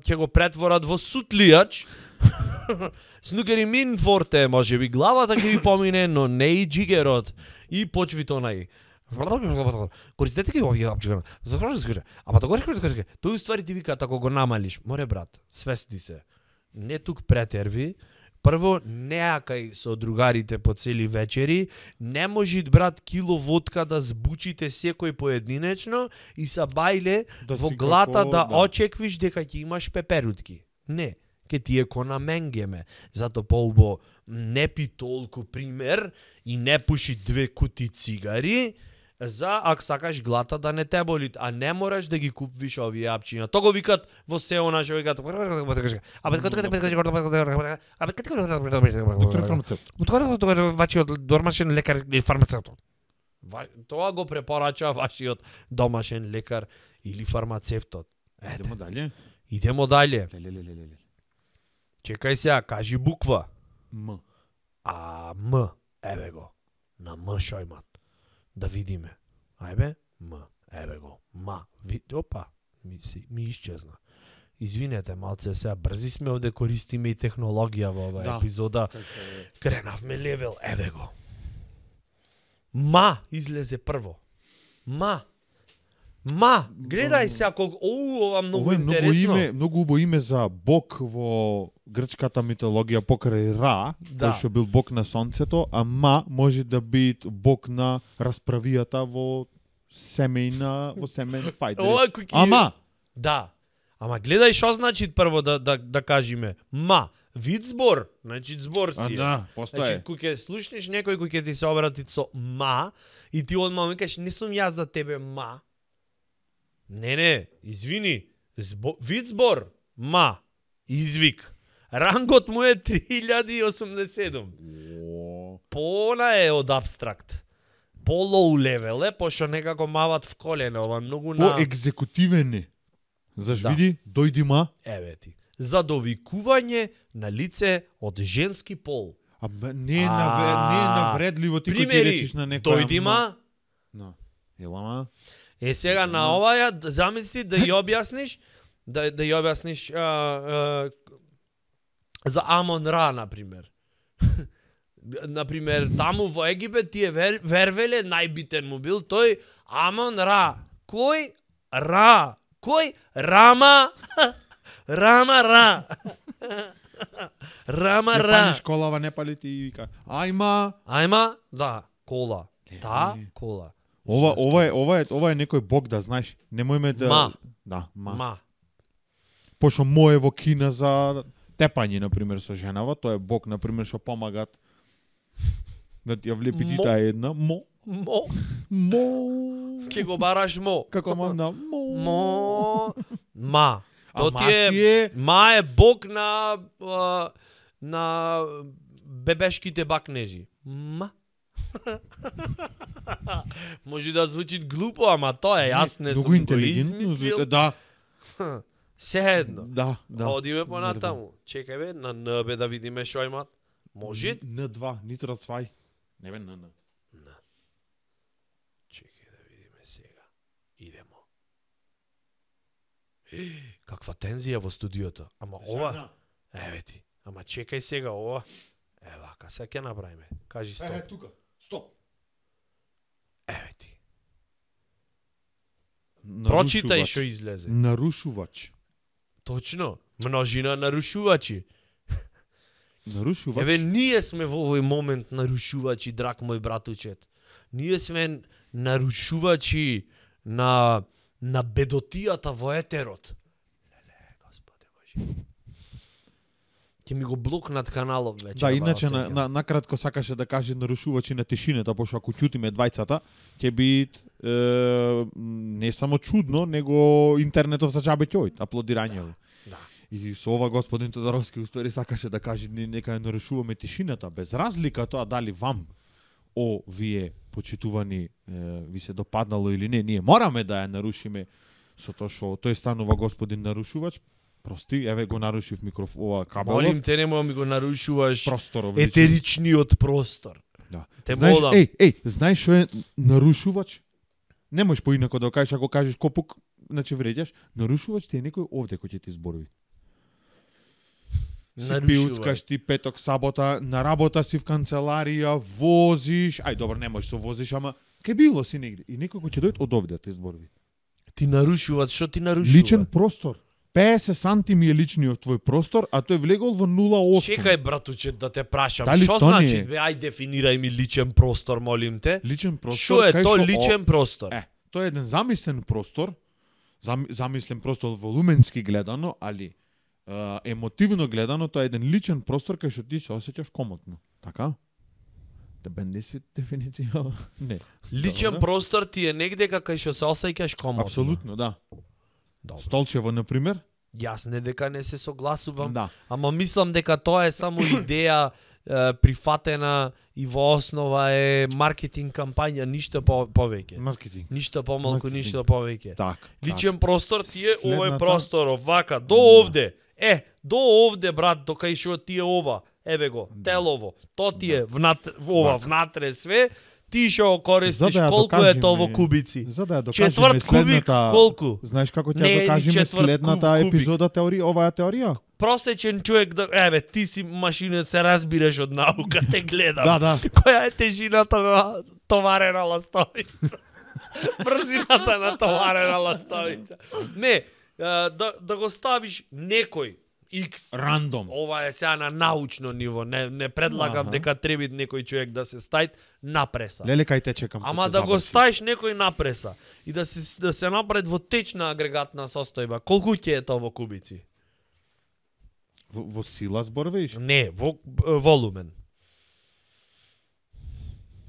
ќе го претворат во сутлијач. Снукери мин форте, може би главата ќе ви помине, но не и джигерот и почвито нај. Користете ги овие апчина. Ама тоа тој уствари ти вика ако го намалиш. Море брат, свести се. Не тук претерви. Прво, неакај со другарите по цели вечери, не можит брат кило водка да збучите секој поединечно и са бајле Да во си глата како, да да. очеквиш дека ќе имаш пеперутки. Не, ке ти е ко на менгеме. Зато поубо не пи толку пример и не пуши 2 кути цигари, за ако сакаш глата да не те боли, а не мораш да ги купиш овие апчиња. То го викат во село наше, викат. Доктор фармацевт. Вашиот домашен лекар или фармацевт. Тоа го препорача вашиот домашен лекар или фармацевтот. Идемо дале. Идемо дале. Леле. Чекај сега, кажи буква. М. А М, еве го. На М шојмат. Да видиме. Ајбе, М, еве го. Ма, опа, ми исчезна. Извинете, малце сега брзи сме овде, користиме и технологија во оваа епизода. Кренавме левел, еве го. Ма излезе прво. Ма, гледај се ако ова многу Ова е интересно. многу убаво име за бог во грчката митологија покрај Ра, Да. кој што бил бог на сонцето, а Ма може да биде бог на расправијата во семен фајт. Ова кој ќе- Ама Да. Ама гледај што значи прво да кажеме. Ма, вид збор, значи збор си. да, Значи, постоje. кој ќе слушнеш некој кој ќе ти се обрати со ма и ти одма му кажеш не сум јас за тебе ма. Не, извини. Вид збор, ма, извик. Рангот му е 3087. Пона е од абстракт. По лоу левел е, пошто некако мават в колено, ова многу на... По екзекутивен е. Заш Да. види, дојди Ма. Еве ти. За довикување на лице од женски пол. А не е навредливо ти кој ти Примери, речиш на некоја дојди ма. No. Елама. Е сега на оваја замисли да ја објасниш за Амон Ра на пример. Например, таму во Египет тие вервеле најбитен му бил тој Амон Ра. Кој Ра? Кој Рама? Рама Ра. Рама Не Ра. палиш колава, не пали ти и вика. Ајма. Ајма, да, кола. Та, кола. Ова е некој бог да знаеш. Немојме да Ма. Да, ма. Ма. Пошто мое во Кина за тепање на пример со женава, тоа е бог на пример што помагат да ти ја влепи ти Мо. таа една мо. Ке го бараш мо. Како мам на мо. Ма. А То ма ти си е е ма е бог на бебешките бакнежи. Ма. Може да звучи глупо, ама тоа е, јас не сум многу го интелигентно. измислил. Да, Се едно. да. Одиме понатаму. Чекај бе, на Н бе да видиме што имат. Може? Н2, нитро цвај. Не бе н. Чекај да видиме сега. Идемо. Каква тензија во студиото. Ама ова, еве ти. Ама чекај сега ова. Вака, сега ќе направиме. Кажи стоп. тука. Стоп. Еве ти. Прочитај што излезе. Нарушувач. Точно. Множина нарушувачи. Нарушувач. Еве, ние сме во овој момент нарушувачи, драг мој братучет. Ние сме нарушувачи на бедотијата во етерот. Леле, Господе Боже. Ќе ми го блокнат каналов вече. Да, иначе накратко сакаше да каже нарушувачи на тишината, пошто ако ќутиме двајцата, ќе би не само чудно, него интернетов за џабе ќе ојд, аплодирањево. Да. И со ова господин Тодоровски уствари сакаше да каже нека ја нарушуваме тишината, без разлика тоа дали вам вие почитувани ви се допаднало или не, ние мораме да ја нарушиме со тоа што тој станува господин нарушувач. Прости, еве го нарушив ова кабелов. Молим те, немој ми го нарушуваш просторов. етеричниот простор. Да. Те Знаеш, бодам. знаеш што е нарушувач? Не можеш поинако да го кажеш, ако кажеш копук, значи вреđаш. Нарушувач ти е некој овде кој ќе ти зборови. Си пиуцкаш ти петок, сабота, на работа си в канцеларија, возиш, добро, не можеш да возиш, ама ке било си негде. И некој кој ќе дојде од овде да ти зборови. Ти нарушуваат, што ти нарушува? Личен простор. 50 сантими е личниот твој простор, а тој влегол во 0,8. Чекај, братуче, да те прашам. Дали Што то не значи, е? ај дефинирај ми личен простор, молим те. Личен простор. Што е кај то што личен простор? Тоа е еден замислен простор, замислен простор волуменски гледано, али емотивно гледано, тоа е еден личен простор кај што ти се осеќаш комотно. Така? Да бенди си дефиниција? Не. Личен простор ти е негде кај што се осеќаш комотно. Апсолутно, да. Добро. Столчево, например? Јас не дека не се согласувам, Да. ама мислам дека тоа е само идеја прифатена и во основа е маркетинг кампања, ништо повеќе. Маркетинг. Ништо помалку, Маркетинг. ништо повеќе. Так. Личен простор ти е овој Следната- простор, вака, до овде. До овде, брат, до кај што ти е ова. Еве го, телово. То ти е ова, внатре све. Ти што го користиш, За да ја колку е докажеме- тоа во кубици? За да ја докажеме Четврт кубик, следната... колку? Знаеш како ќе Не е ја ни докажеме четврт следната кубик. епизода оваа теорија? Просечен човек да... Еве, ти си машина, се разбираш од наука, те гледам. Да. Која е тежината на товарена ластовица? Брзината на товарена ластовица. Не, да го ставиш некој X. Рандом. Ова е сега на научно ниво, не предлагам дека треба некој човек да се стајт напреса. Леле, кај те чекам. Ама да го ставиш некој напреса и да се направи во течна агрегатна состојба, колку ќе е тоа во кубици? Во сила зборвиш? Не, во волумен.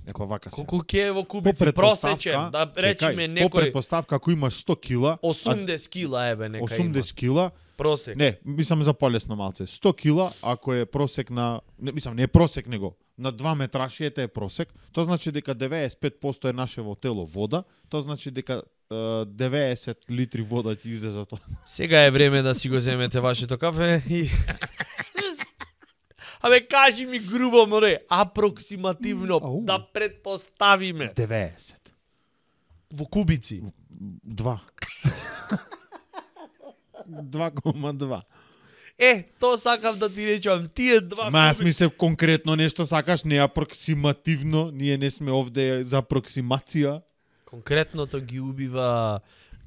Еко вака се. Колку ќе е во кубици просечен, да речеме По некој предпоставка ако имаш 100 кила, 80 кила еве нека 80 кила, просек. не, мислам за полесно малце. 100 кила, ако е просек на, не е просек него, на 2 метрашијата е просек, тоа значи дека 95% е нашево тело вода, тоа значи дека 90 литри вода ќе излезе тоа. Сега е време да си го земете вашето кафе и Абе, кажи ми грубо, море, апроксимативно, да предпоставиме. 90. Во кубици. 2. 2,2. Тоа сакав да ти речам, тие два Ма јас мислев конкретно нешто сакаш, не апроксимативно, ние не сме овде за апроксимација. Конкретното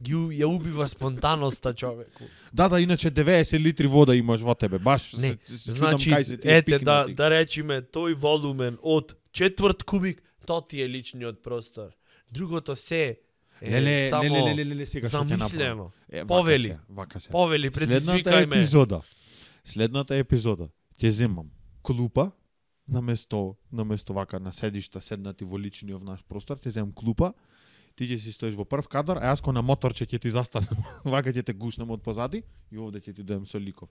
ја убива спонтаноста човеку. Да, иначе 90 литри вода имаш во тебе, баш. Не, се значи, кај се тие пикнати. да речиме, тој волумен од четврт кубик, тоа ти е личниот простор. Другото се е само сега што ќе замислено. направам. Повели. Вака се. Повели, предизвикај ме. Следната епизода ќе земам клупа наместо вака на седишта седнати во личниот наш простор, ќе земам клупа. Ти ќе си стоиш во прв кадар, а јас ко на моторче ќе ти застанам. Вака ќе те гушнам од позади и овде ќе ти дојдем со ликов.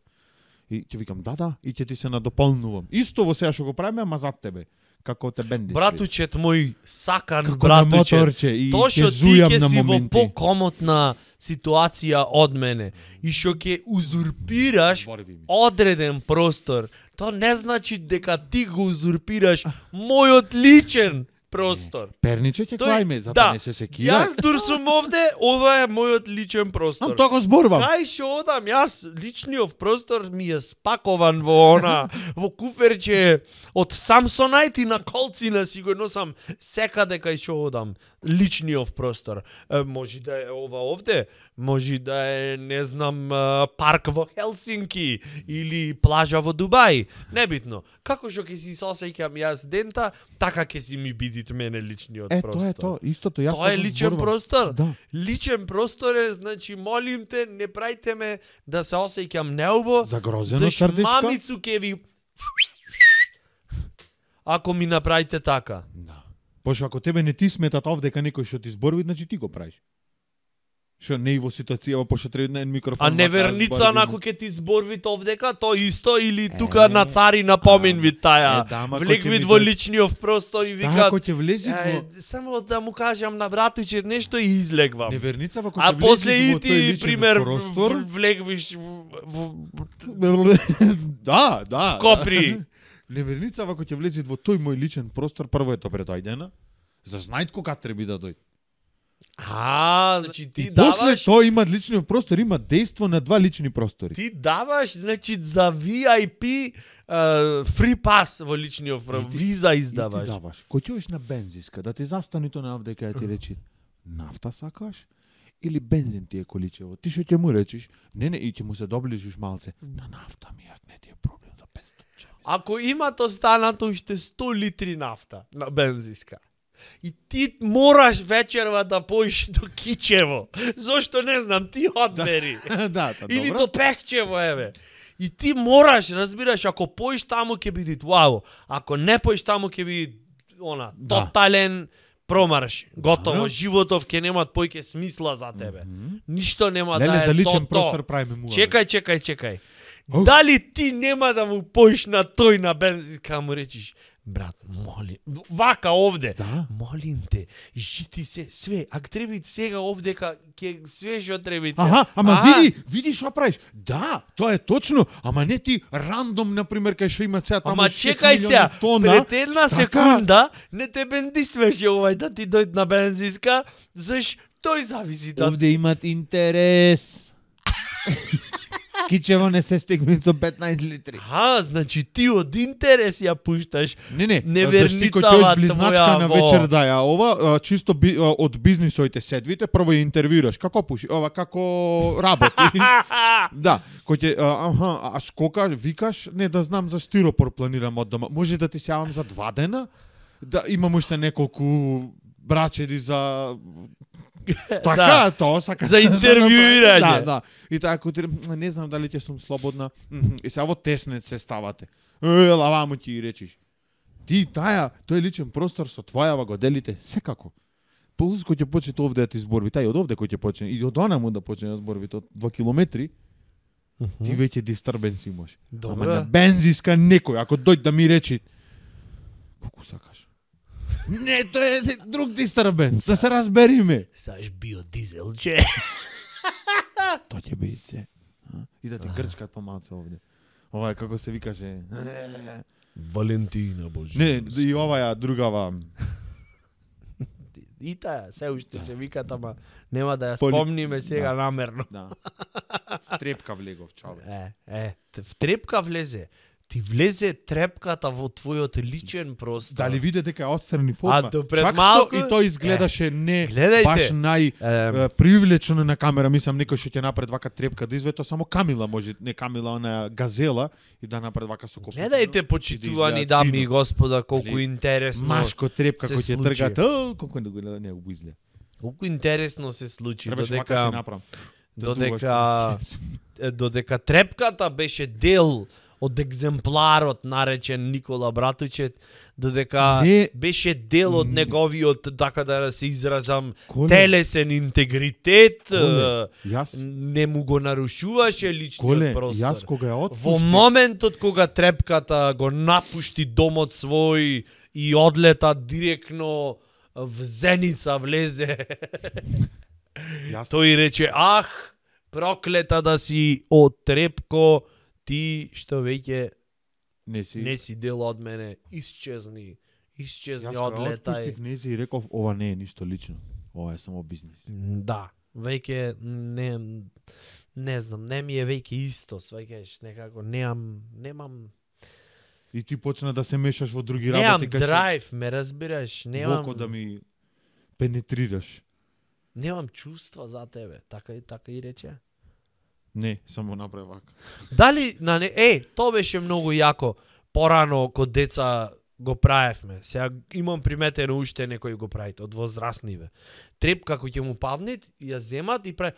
И ќе викам да, и ќе ти се надополнувам. Исто во сега што го правиме, ама зад тебе. Како те бенди. Братучет мој, сакан како на братучет. моторче и Тоа ќе што ти зујам ќе на си во моменти. покомотна ситуација од мене и што ќе узурпираш Зборови ми. одреден простор, тоа не значи дека ти го узурпираш мојот личен простор. Перниче ќе Тој- клајме, затоа да, не се секира. Јас дур сум овде, ова е мојот личен простор. Тоа го зборувам. Кај што одам, јас личниот простор ми е спакован во во куферче од Samsonite и на колцина си го носам секаде кај што одам. Личниот простор. Може да е ова овде, може да е, не знам, парк во Хелсинки или плажа во Дубај. Небитно. Како што ќе си сосеќам јас дента, така ќе си ми бидит мене личниот простор. Тоа е тоа, истото јас. Тоа е го личен зборувам. простор. Да. Личен простор е, значи, молим те, не прајте ме да се осеќам неубо. Загрозено За срдечко. мамицу ќе ви... Ако ми направите така. Да. Пошто ако тебе не ти сметат овде дека некој што ти зборови, значи ти го правиш. Што не и во ситуација, пошто треба на микрофон. А неверница онаку ќе ти зборвит овдека, то исто или тука на цари напомен ви таја. Влек вид во личниот простор и Вика, вика... ако ќе влези во Само да му кажам на братуче нешто и излегвам. неверница, ако А ќе после влези и во тој ти, личен пример, простор, влегвиш да. Копри. Неверница ако ќе влезе во тој мој личен простор, прво е добре дојдена. За знајт кога треба да дојде. Значи ти И после даваш, тоа има личниот простор, има дејство на два лични простори. ти даваш, значи за VIP free pass во личниот виза И ти издаваш. даваш. Кој ќе одиш на бензиска, да ти застани тоа на дека ти речи нафта сакаш или бензин ти е количево. Ти што ќе му речиш? Не, и ќе му се доближиш малце. На нафта ми јак не ти е проблем за 500 чеми. Ако имат останато уште 100 литри нафта на бензиска, и ти мораш вечерва да поиш до Кичево, зошто не знам, ти одмери. Да, Или добро. до Пехчево, еве. И ти мораш, разбираш, ако поиш таму ќе биде вау, ако не поиш таму ќе биде Да. тотален промарш. Готово, Добро. животов ќе немат појќе смисла за тебе. Ништо нема Леле, да е за личен то. простор правиме му. Чекај. Оф. Дали ти нема да му поиш на тој на бензинска, му речиш, брат, молим, вака овде, Да. молим те, жити се све, ако треба сега овдека, ќе све што треба. Аха, ама види што правиш. Да, тоа е точно, ама не ти рандом, например, кај што има сега таму Ама 6 чекај милиони сега, тона. пред една така. секунда не те бендисвеше овај да ти дојде на бензинска, заш тој зависи да... Овде имат интерес. Кичево не се стигне со 15 литри. Значи ти од интерес ја пушташ. Не, Неверницава зашти кој ќе близначка твоја на во- вечер да ја ова, чисто од бизнисоите седвите, прво ја интервјураш како пуши, ова како работи. Да, кој ќе а скока, викаш, не да знам за стиропор планирам од дома. Може да ти се јавам за 2 дена? Да имам уште неколку брачеди за така, тоа сака. За интервјуирање. Да. И така не знам дали ќе сум слободна. И сега во теснец се ставате. Лаваму ќе речиш. Ти тој личен простор со твојава го делите секако. Плюс кој ќе почне овде да ти зборви, тај од овде кој ќе почне и од онаму да почне да зборви од 2 километри, ти веќе дистербенс имаш. Ама на Добро. бензиска некој ако дојде да ми речи колку сакаш. Не, тоа е друг дистербенс, да се разбериме. Саш биодизелче. Тоа ќе биде се. И да ти грчкат помалце овде. Ова е како се викаше. Валентина Божи. Не, и оваа другава. И таа, се уште се викат, ама нема да ја Поли- спомниме сега Да. намерно. Да. Трепка влегов, чао. В трепка влезе. Ти влезе трепката во твојот личен простор. Дали виде дека е отстрани форма? до пред Чак малку- што и тој изгледаше не гледајте. баш Ем. привлечено на камера, мислам некој што ќе направи вака трепка да извето само Камила може, не Камила, она газела и да направи вака со копито. Гледајте, почитувани дами и господа, колку Али, интересно. Машко трепка се кој ќе случи. тргат, колку не го изгледа. Колку интересно се случи, Требаше вака да ти направам. додека трепката беше дел од екземпларот наречен Никола Братучет, додека Не. беше дел од неговиот, така да се изразам, Коле. телесен интегритет, Коле, јас не му го нарушуваше личниот Коле, простор. јас кога ја Во отпуштив, моментот кога трепката го напушти домот свој и одлета директно в Зеница влезе, јас тој рече, ах, проклета да си од трепко, ти што веќе не си. не си дел од мене, исчезни, Јас кога одлетај. отпуштив нези и реков ова не е ништо лично. Ова е само бизнис. Да, веќе не знам, не ми е веќе исто, сваќаш, некако немам И ти почна да се мешаш во други немам работи кај што драйв, ме разбираш, немам воко да ми пенетрираш. немам чувства за тебе, така и рече. Не, само направи вака. Дали тоа беше многу јако. Порано кога деца го правевме. Сега имам приметено уште некои го правите од возрастниве. Трепка кој ќе му падне, ја земат и прави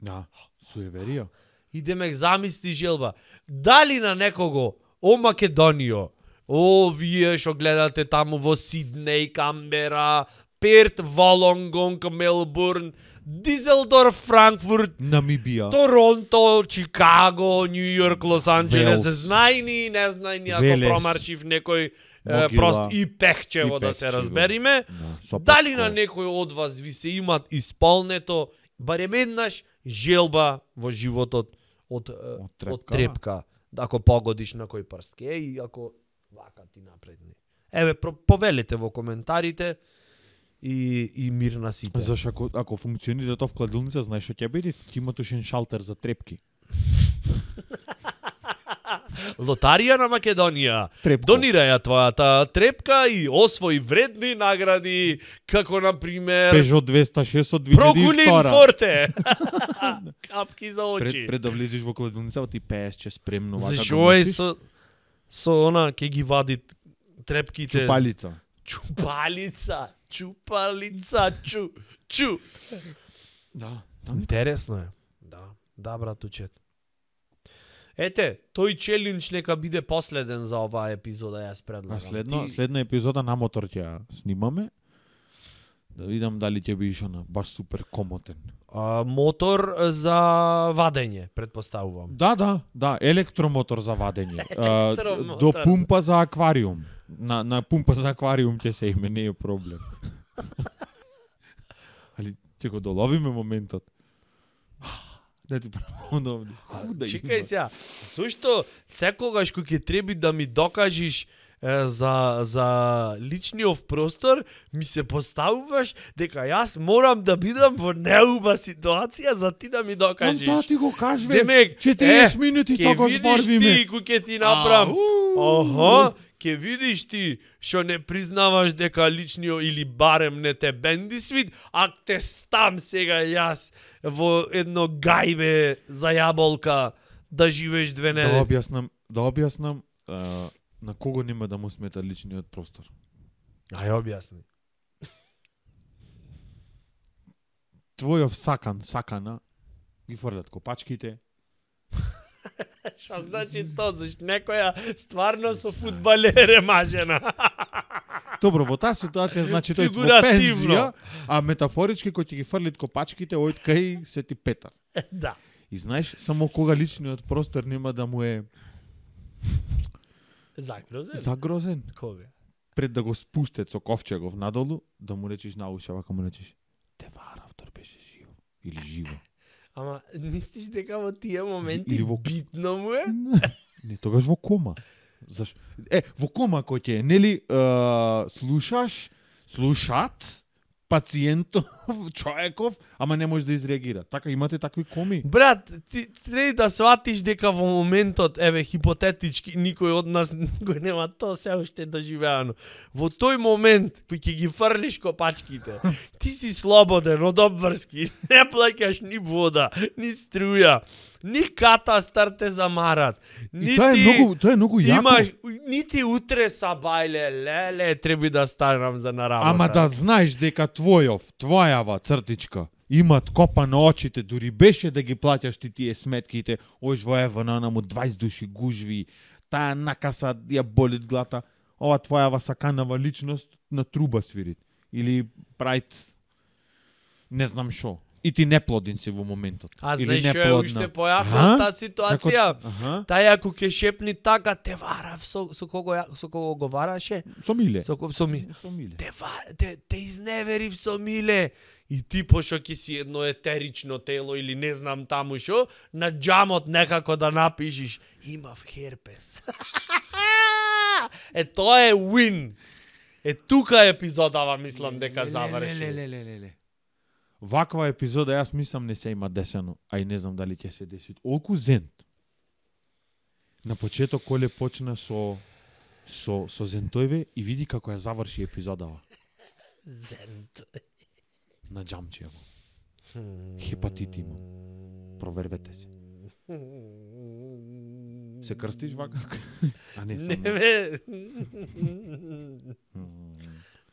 Да, суеверија. идеме замисли желба. Дали на некого о Македонијо, о вие што гледате таму во Сиднеј, Камбера, Перт, Волонгонг, Мелбурн, Дизелдорф, Франкфурт, Намибија. Торонто, Чикаго, Нью Йорк, Лос Анџелес, Велс. знајни, не знајни, ако Велес. промаршив некој Могила. прост и Пехчево И да се Пехчево. разбериме. Да, со Дали пачко. на некој од вас ви се имат исполнето барем еднаш желба во животот од трепка? трепка, ако погодиш на кој прстке и ако вака ти напредни. Еве, повелите во коментарите и мир на сите. Зашто ако функционира тоа в кладилница, знаеш што ќе биде? Ќе има тошен шалтер за трепки. Лотарија на Македонија. Трепко. Донирај ја твојата трепка и освои вредни награди, како на пример Peugeot 206 од Прокулин 2002. Форте. Капки за очи. Пред да влезеш во кладилница, ти пееш че спремно вака. Зашо е со она ќе ги вади трепките. Чупалица. Чупалица, чу. Да. Интересно е. Да, братучет. Ете, тој челендж нека биде последен за оваа епизода, јас предлагам. Следна епизода на мотор ќе ја снимаме. Да видам дали ќе бидеш баш супер комотен. Мотор за вадење, предпоставувам. Да, електромотор за вадење. Електромотор. До пумпа за аквариум. На пумпа за аквариум ќе се име, не е проблем. Али ќе го доловиме моментот. Да ти правам овде. Чекај сега, зашто секогаш кога ќе треба да ми докажеш за личниот простор, ми се поставуваш дека јас морам да бидам во неуба ситуација за ти да ми докажеш. Тоа ти го кажеш, Демек, 40 минути тоа го зборвиме. Ти кој ќе ти направам. Ќе видиш ти што не признаваш дека личниот или барем не те бенди свит, а те стам сега јас во едно гајбе за јаболка да живееш 2 недели. Да објаснам на кого нема да му смета личниот простор. Ај објасни. Твојов сакана ги фрлат копачките. Што значи тоа, зашто некоја стварно со фудбалер е мажена. Добро, во таа ситуација значи тој во Фигуративно. пензија, а метафорички кој ќе ги фрлит копачките, ојд кај се ти Петар. Да. И знаеш, само кога личниот простор нема да му е загрозен. Кога? Пред да го спуштат со ковчегов надолу, да му речеш на уша, вака му речеш: "Те варав, тор беше живо." Или живо. Ама мислиш дека во тие моменти Или во битно му е? Не, тогаш во кома. Зашо? Во кома кој ќе е, нели, слушат пациентов, човеков, ама не може да изреагира. Така имате такви коми? Брат, ти треба да сватиш дека во моментот, еве, хипотетички, никој од нас го нема тоа се уште доживеано. Во тој момент, кој ќе ги фрлиш копачките, ти си слободен од обврски, не плаќаш ни вода, ни струја, ни катастар те замарат. И тоа е многу јако. Имаш, нити утре са бајле, леле, треба да станам за на работа. Ама да знаеш дека твојава цртичка имат копа на очите, дури беше да ги плаќаш ти тие сметките, ош во ЕВН му 20 души гужви, таа накаса ја болит глата, ова твојава саканава личност на труба свирит. Или прајт не знам шо. И ти неплоден си во моментот. А или знаеш што е неплодна. уште појако таа ситуација? Аха. Тај ако ќе шепни така, те варав со кого го вараше? Со Миле. Со Миле. Со Миле. Те изневерив со Миле. И ти пошо ќе си едно етерично тело или не знам таму шо, на џамот некако да напишиш имав херпес. Тоа е win. Тука епизодава мислам дека заврши. Леле. Ваква епизода јас мислам не се има десено, а и не знам дали ќе се деси. Олку зент. На почеток Коле почна со зентојве и види како ја заврши епизодава. Зент. На џамчијаво. Хепатит има. Провервете се. Се крстиш вака? А не, Не само. бе.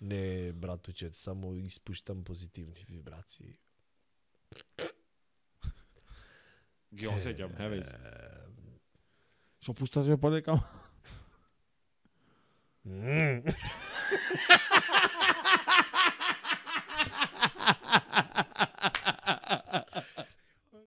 Не, братуче, само испуштам позитивни вибрации. Ги осеќам, еве се. Што пусташ ве подека?